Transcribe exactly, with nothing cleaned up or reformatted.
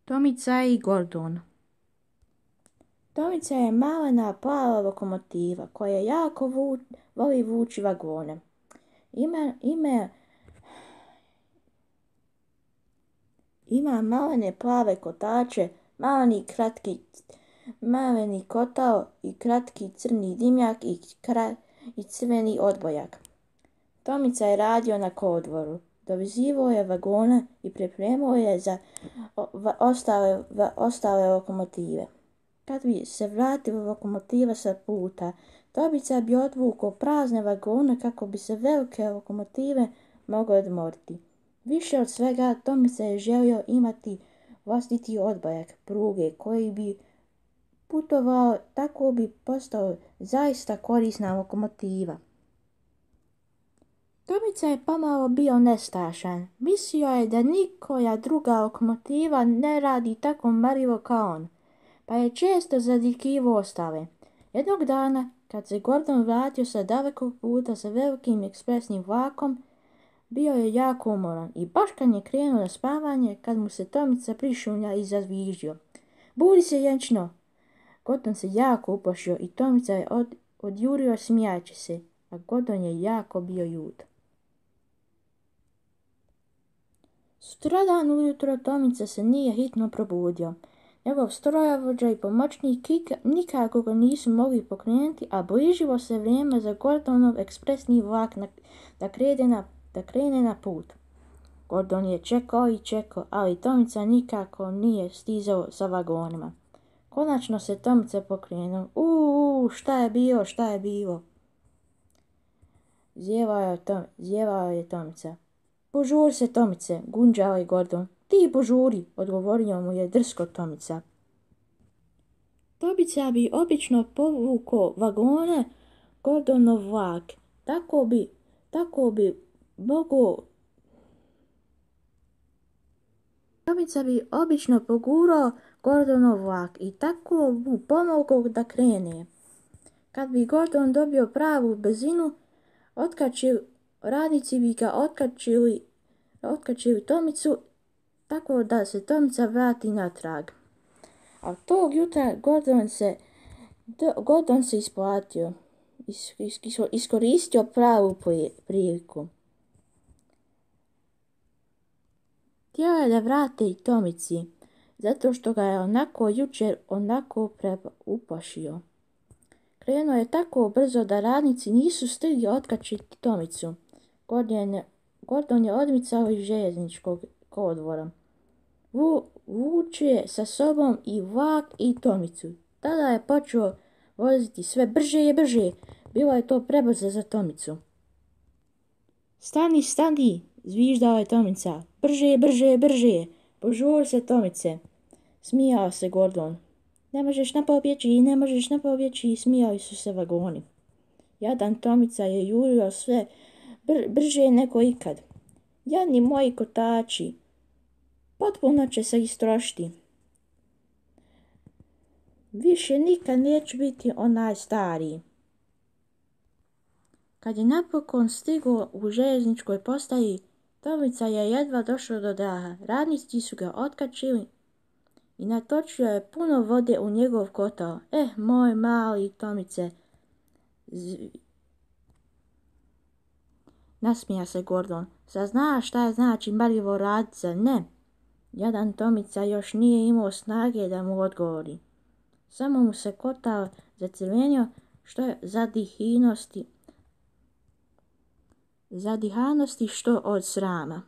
Tomica i Gordon. Tomica je malena plava lokomotiva koja jako vu, voli vući vagone. Ima, ima, ima malene plave kotače, maleni kratki, maleni kotao i kratki crni dimnjak i, kra, i crveni odbojak. Tomica je radio na kolodvoru. Dovezivao je vagone i pripremao je za ostale, ostale lokomotive. Kad bi se vratila lokomotiva sa puta, Tomica bi odvukao prazne vagone kako bi se velike lokomotive mogle odmoriti. Više od svega, Tomica je želio imati vlastiti odbojak pruge koji bi putovao, tako bi postao zaista korisna lokomotiva. Tomica je pomalo bio nestašan. Mislio je da nikoja druga lokomotiva ne radi tako marljivo kao on, pa je često zadikivao ostale. Jednog dana, kad se Gordon vratio sa dalekog puta sa velikim ekspresnim vlakom, bio je jako umoran i baš kad je krenuo na spavanje, kad mu se Tomica prišunja i zazviždio. Budi se, jenčno! Gordon se jako uplašio i Tomica je od, odjurio smijajući se, a Gordon je jako bio ljut. Sutradan ujutro Tomica se nije hitno probudio. Njegov strojovođa i pomoćnik nikako ga nisu mogli pokrenuti, a bližilo se vrijeme za Gordonov ekspresni vlak na, da, krene na, da krene na put. Gordon je čekao i čekao, ali Tomica nikako nije stizao sa vagonima. Konačno se Tomica pokrenuo. Uuu, šta je bilo, šta je bilo? Zjevao je, Tom, zjevao je Tomica. Požuri se, Tomice, gunđao je Gordon. Ti požuri, odgovorio mu je drsko Tomica. Tomica bi obično povukao vagone Gordonov vlak. Tako bi, tako bi mogao... Tomica bi obično pogurao Gordonov vlak i tako mu pomogao da krene. Kad bi Gordon dobio pravu brzinu, otkačili, radnici bi ga otkačili, otkačili Tomicu tako da se Tomica vrati natrag. A tog jutra Gordon se, Gordon se isplatio, is, is, is, iskoristio pravu priliku. Htio je da vrate i Tomici, zato što ga je onako jučer onako uplašio. Krenuo je tako brzo da radnici nisu stigli otkačiti Tomicu. Gordon je, Gordon je odmicao iz željezničkog kolodvora. Vu, vuče sa sobom i vlak i Tomicu. Tada je počeo voziti sve brže i brže. Bilo je to prebrzo za Tomicu. Stani, stani, zviždao je Tomica. Brže, brže, brže. Požuri se, Tomice. Smijao se Gordon. Ne možeš napobjeći, ne možeš napobjeći, smijali su se vagoni. Jadan Tomica je jurio sve br- brže nego ikad. Jadni moji kotači, potpuno će se istrošiti. Više nikad neću biti onaj stariji. Kad je napokon stigao u željezničkoj postaji, Tomica je jedva došao do daha. Radnici su ga otkačili i natočio je puno vode u njegov kotao. Eh, moj mali Tomice, Z... nasmija se Gordon. Sad znaš šta je znači marljivo radit, zar ne? Jadan Tomica još nije imao snage da mu odgovori. Samo mu se kotao zacrvenio što je zadihanosti, zadihanosti što od srama.